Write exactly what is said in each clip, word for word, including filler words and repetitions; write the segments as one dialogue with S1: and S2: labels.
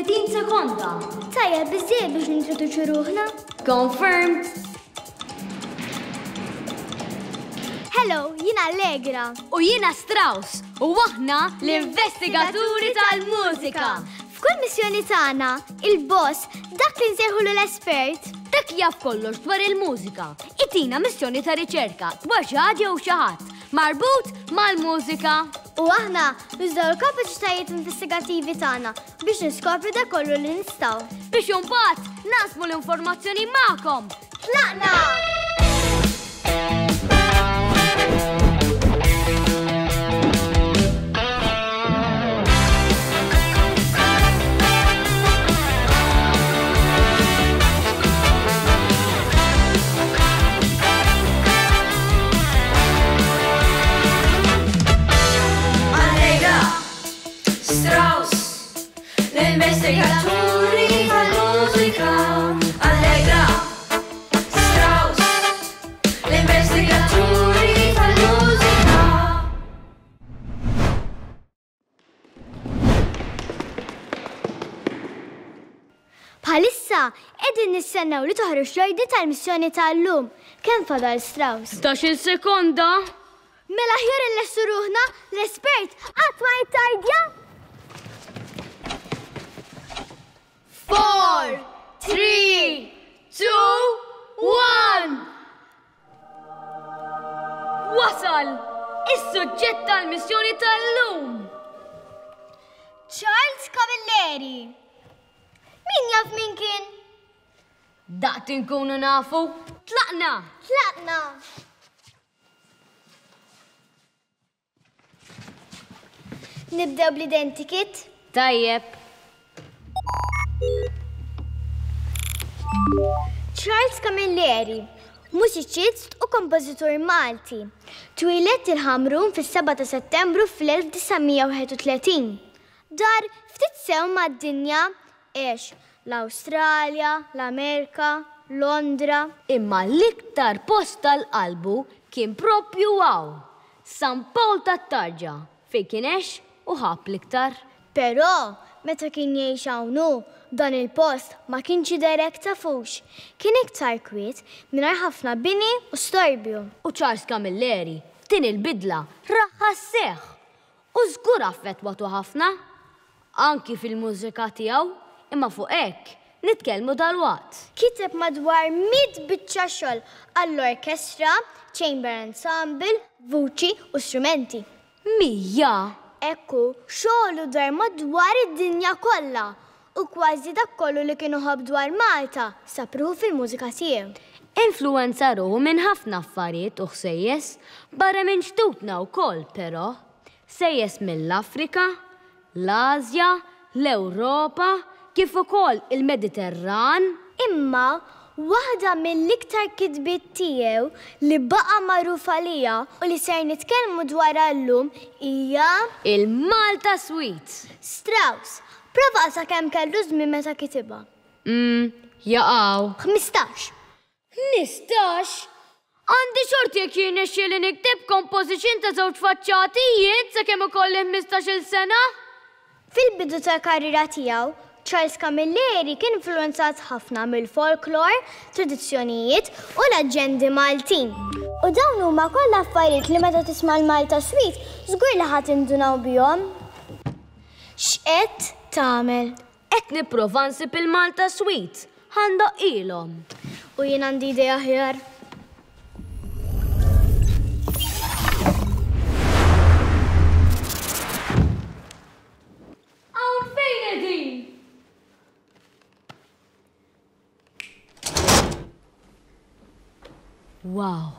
S1: Tletin sekonda.
S2: Tajjeb biżżejjed biex nintroduċu ruħna.
S1: Confirmed.
S2: Hello, jiena Allegra.
S1: U jiena Strauss. U aħna l-investigaturi tal-mużika.
S2: F'kull missjoni tagħna, il-boss, dak li nsejħulu l-espert,
S1: dak jaf kollox dwar il-mużika. Itina missjoni ta' riċerka dwar xi ħaġa jew xi ħadd marbut mal-mużika.
S2: U aħna nużaw il-kapaċitajiet investigativi tagħna biex niskopru dak kollu li nistgħu.
S1: Biex imbagħad naqsmu l-informazzjoni magħkom.
S2: Tlaqna!
S3: Strauss, l-investigaturi tal-mużika. Allegra, Strauss, l-investigaturi tal-mużika.
S2: Bħalissa, qegħdin nistennew li toħroġ l-ordni tal-missjoni tal-lum. Kemm fadal, Strauss?
S1: Ħdax-il sekonda.
S2: Mela aħjar inlessu ruħna, l-espert qatt ma jittardja.
S1: Four, three, two, one. Wasal! Is-suġġett tal-missjoni tal-lum!
S2: Charles Camilleri. Min jaf min kien?
S1: Daqt inkunu nafu. Tlaqna!
S2: Tlaqna! Nibdew bl-identikit?
S1: Tajjeb.
S2: Charles Camilleri, mużiċist u kompożitur Malti. Twieled il-Ħamrun fis-seba' ta' Settembru fl-elf disa' mija wieħed u tletin. Dar ftit sew mad-dinja għex l-Awstralja, l-Amerika, Londra.
S1: Imma l-iktar post tal-qalbu kien propju hawn, San Pawl tat-Tarġa, fejn kien għex u ħab l-iktar.
S2: Però, meta kien jgħix hawn hu, dan il-post ma kienx jidher hekk tafux. Kien iktar kwiet mingħajr ħafna bini u storbju.
S1: U Charles Camilleri, din il-bidla raħħa sseħħ u żgur affettwatu ħafna. Anki fil-mużika tiegħu, imma fuq hekk nitkellmu dalwaqt.
S2: Kiteb madwar mitt biċċa xogħol għall-orkestra, chamber ensemble, vuċi u strumenti.
S1: Mija!
S2: Ekku, xogħlu dar madwar id-dinja kollha u kważi dak kollu li kienu ħobb dwar Malta sapruhu fil-mużika tiegħu.
S1: Influenza ruħu minn ħafna affarijiet u ħsejjes barra minn xtutna wkoll, però sejjes mill-Afrika, l-Asja, l-Ewropa, kif ukoll il-Mediterran.
S2: Imma waħda mill-iktar kitbiet tiegħu li baqa' magħruf għalija u li ser nitkellmu dwarha llum hija
S1: il-Malta Suite.
S2: Strauss, prova qasa kemm kellu żmien meta kitibha.
S1: Mm, jaqaw.
S2: Ħmistax.
S1: Ħmistax? Għandi xorti jekk jirnexxieli nikteb composition ta' żewġ faċċati jien sakemm ikolli ħmistax-il sena.
S2: Fil-bidu tal-karriera tiegħu, Charles Camilleri kien influenzat ħafna mill-folklor, tradizzjonijiet u l-aġendi Maltin. U dawn huma kollha affarijiet li meta tisma' l-Malta Suite żgur li ħadd indunaw bihom. X'qed tagħmel?
S1: Qed nipprova nsib il-Malta Suite, ħandoqilhom.
S2: U jien għandi idea aħjar.
S1: Hawn fejn qegħdin? Wow!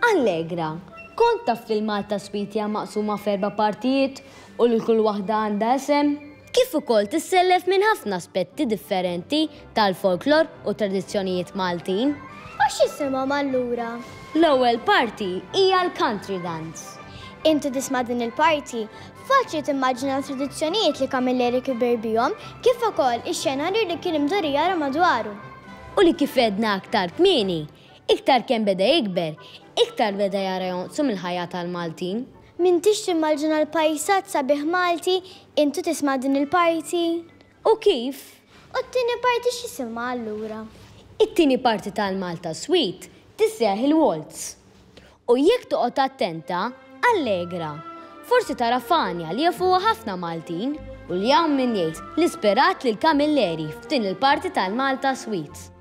S1: Allegra, kont taf li l-Malta Suite hija maqsuma f'erba' partijiet u li kull waħda għandha isem? Kif ukoll tissellef minn ħafna aspetti differenti tal-folklor u tradizzjonijiet Maltin.
S2: U x'isimhom allura?
S1: L-ewwel parti hija l-country dance.
S2: Inti tisma' din il-parti, Faċli timmaġina tradizzjonijiet li Camilleri kiber bihom kif ukoll ix-xenarju li kien imdur jara madwaru.
S1: U li kif għedna aktar kmieni, iktar kemm beda jikber, iktar beda jara jonqsu mill-ħajja tal-Maltin.
S2: M'intix timmaġina l-pajsaġġ sabiħ Malti, intu tisma' din il-parti.
S1: U kif?
S2: U t-tieni parti x'isimha allura?
S1: It-tieni parti tal-Malta Suite tissejjaħ il-Waltz. U jekk toqgħod attenta, allegra. Forsi tara Fanja li jafuha ħafna Maltin u li hawn min jgħid li sperat lil Camilleri f'din il-parti tal-Malta Suite.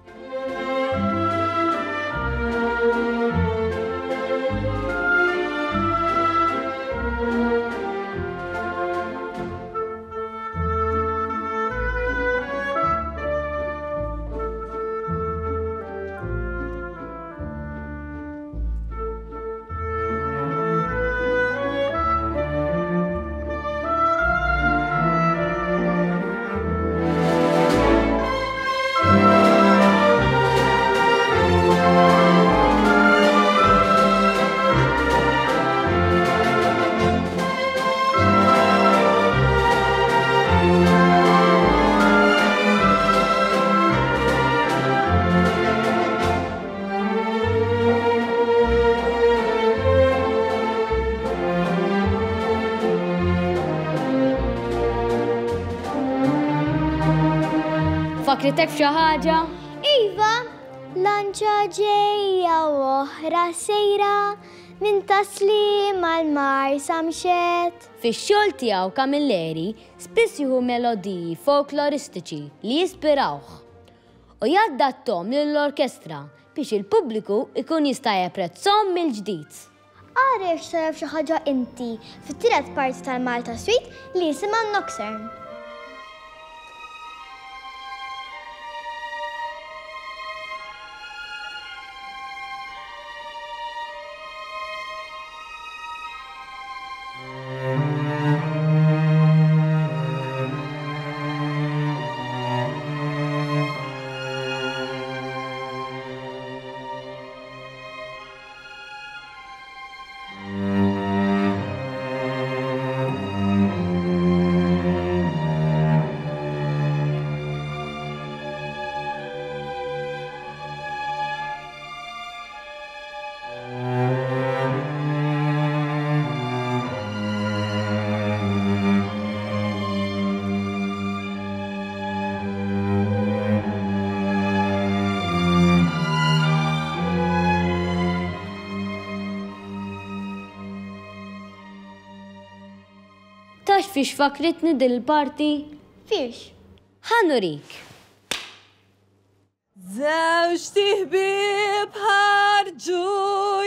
S1: Fakritek f'xi ħaġa?
S2: Iva, lanċa ġejja u oħra sejra minn Taslim għal Marsa mxet.
S1: Fix-xogħol tiegħu Camilleri spiss jieħu melodiji folkloristiċi li jispirawh u jaddatthom lill-orkestra biex il-pubbliku ikun jista' japprezzhom mill-ġdid.
S2: Ara jekk tara xi ħaġa inti fit-tielet parti tal-Malta Suite li jisimha Nocturne.
S1: Tax fiex fakritni dil-parti?
S2: Fiex?
S1: Ħa nurik.
S4: Żewġt iħbieb ħarġu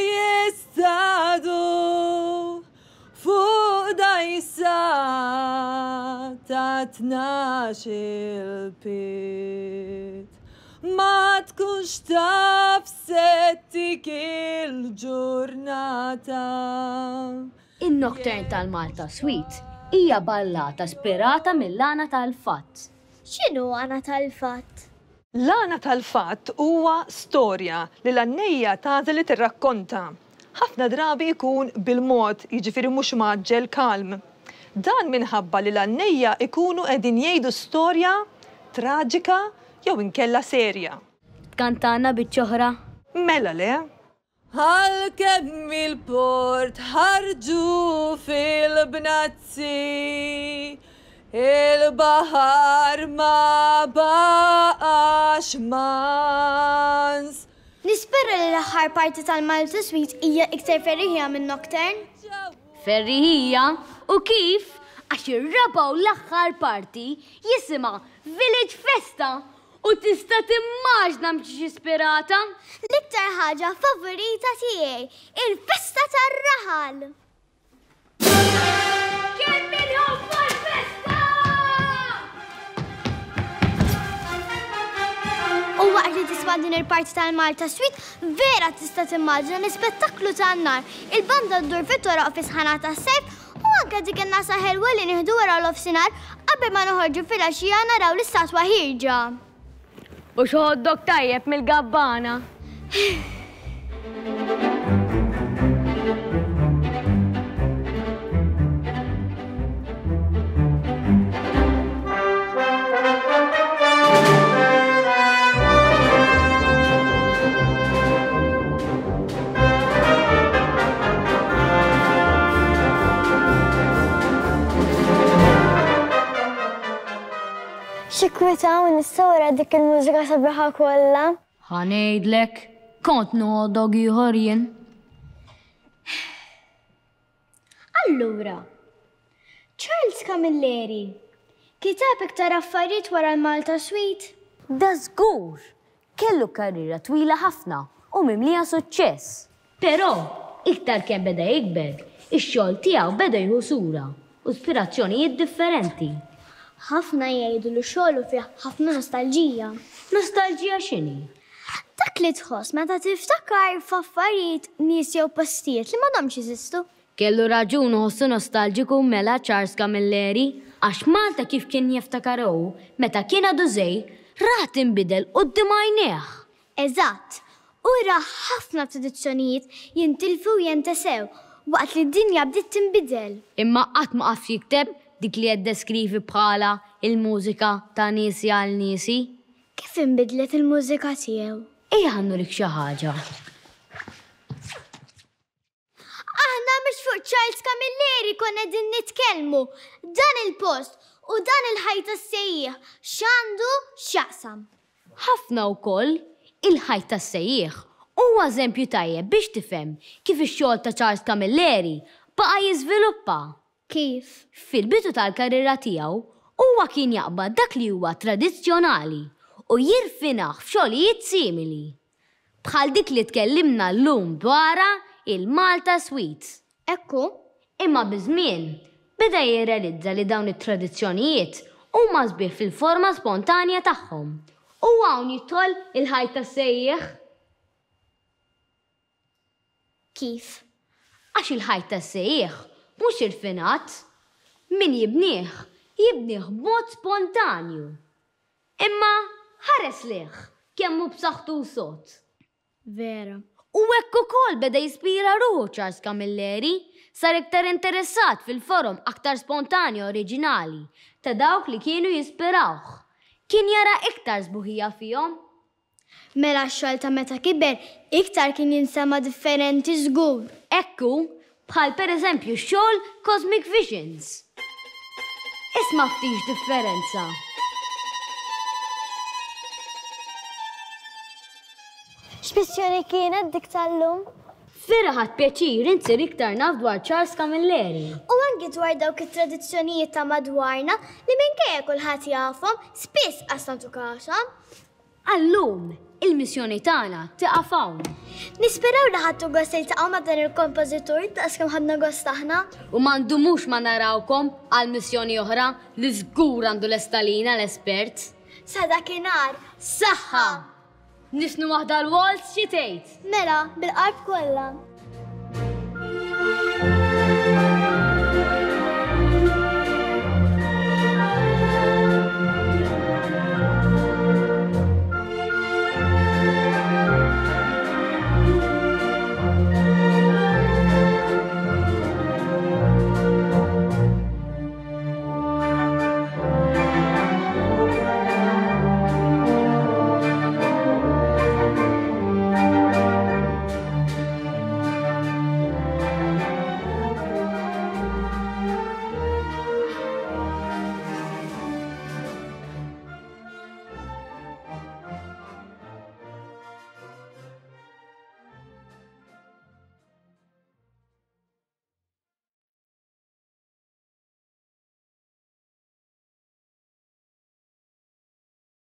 S4: jistadu fuq dajsa ta' tnax il-piet. Ma tkunx taf settik il-ġurnata.
S1: In-Nocturne tal-Malta Suite hija ballata spirata mill-għana tal-fatt.
S2: X'inhu għana tal-fatt?
S4: L-għana tal-fatt huwa storja li l-għannejja tagħżel li tirrakkonta. Ħafna drabi jkun bil-mod, jiġifieri mhux mgħaġġel kalm. Dan minħabba li l-għannejja ikunu qegħdin jgħidu storja traġika jew inkella serja.
S1: Tkantana biċ-oħra?
S4: Mela le. Għalkemm il-port ħarġu fil-bnazzi, il-baħar ma baqax mans.
S2: Nispera li l-aħħar parti tal-Malta Suite hija iktar ferriħija minn Nocturne.
S1: Ferriħija? U kif? Għax ir-raba' u l-aħħar parti jisimha Village Festa. U tista' timmaġna mhix ispirata?
S2: L-iktar ħaġa favorita tiegħi, il-festa tar-raħal.
S1: Kemm inħobbu l-festa!
S2: U waqt li tisma' din il-parti tal-Malta Suite, vera tista' timmaġina l-ispettaklu tan-nar, il-banda ddur fit-toroq fi sħana tas-sajf u anke dik in-nasa ħelwa li nieħdu wara l-ofsinhar qabel ma noħorġu fil-għaxija naraw l-istatwa ħierġa.
S1: U xi hot-dog tajjeb mill-gabbana.
S2: Kieku ta' hawn issa wara dik il-mużika sabiħa kollha.
S1: Ħa ngħidlek, kont noħodok ieħor jien.
S2: Allura, Charles Camilleri kiteb iktar affarijiet wara l-Malta Suite?
S1: Da żgur! Kellu karriera twila ħafna u mimlija suċċess. Però, iktar kemm beda jikber, ix-xogħol tiegħu beda jieħu sura u ispirazzjonijiet differenti.
S2: Ħafna jgħidu li xogħlu fih ħafna nostalġija.
S1: Nostalġija x'inhi?
S2: Dak li tħoss meta tiftakar f'affarijiet, nies jew postijiet li m'għadhomx jeżistu.
S1: Kellu raġun iħossu nostalġiku mela Charles Camilleri, għax Malta kif kien jiftakar hu meta kien għadu żgħir, rah tinbidel quddiem għajnejh.
S2: Eżatt, u ra ħafna tradizzjonijiet jintilfu u jintesew waqt li d-dinja bdiet tinbidel.
S1: Imma qatt ma qaf jikteb dik li qed deskrivi bħala il-mużika ta' niesi għal niesi.
S2: Kif inbidlet il-mużika tiegħu?
S1: Ejja ħa nurik xi ħaġa.
S2: Aħna mhux fuq Charles Camilleri konna qegħdin nitkellmu. Dan il-post u dan il-ħajt tas-sejjieħ x'għandu x'jaqsam.
S1: Ħafna wkoll il-ħajt tas-sejjieħ huwa eżempju tajjeb biex tifhem kif ix-xogħol ta' Charles Camilleri baqa' jiżviluppa.
S2: Kif?
S1: Fil-bidu tal-karriera tiegħu huwa kien jaqbad dak li huwa tradizzjonali u jirfinah f'xogħlijiet simili. Bħal dik li tkellimna llum dwarha il-Malta Suite.
S2: Ekku.
S1: Imma biż-żmien beda jirrealizza li dawn it-tradizzjonijiet huma sbieħ fil-forma spontanja tagħhom. U hawn jidħol il-ħajt tas-sejjieħ.
S2: Kif?
S1: Għax il-ħajt tas-sejjieħ mhux irfinat. Min jibnieh, jibnieh b'mod spontanju. Imma ħares lih kemm hu b'saħħtu u sod.
S2: Vera.
S1: U hekk ukoll beda jispira ruħu Charles Camilleri, sar iktar interessat fil-forom aktar spontanji oriġinali ta' dawk li kienu jispirawh. Kien jara iktar sbuħija fihom.
S2: Mela x-xogħol ta' meta kiber iktar kien jinsema' differenti żgur.
S1: Ekku, bħal pereżempju x-xogħol Cosmic Visions. Isma' ftit differenza.
S2: X'missjoni kienet dik tal-lum?
S1: Vera ħadt pjaċir insir iktar naf dwar Charles Camilleri.
S2: U anki dwar dawk it-tradizzjonijiet ta' madwarna li minkejja kulħadd jafhom, spiss qas nagħtu kashom.
S1: Għallum, il-missjoni tagħna tieqaf hawn.
S2: Nisperaw li ħadtu gost tiltaqgħu ma' dan il-kompożitur daqs kemm ħadna gost aħna.
S1: U ma ndumux ma narawkom għal missjoni oħra li żgur għandu l-estalina l-espert.
S2: Sa dakinhar,
S1: saħħa! Nisnu waħda l-waltz xi tgħid?
S2: Mela, bil-qalb kollha.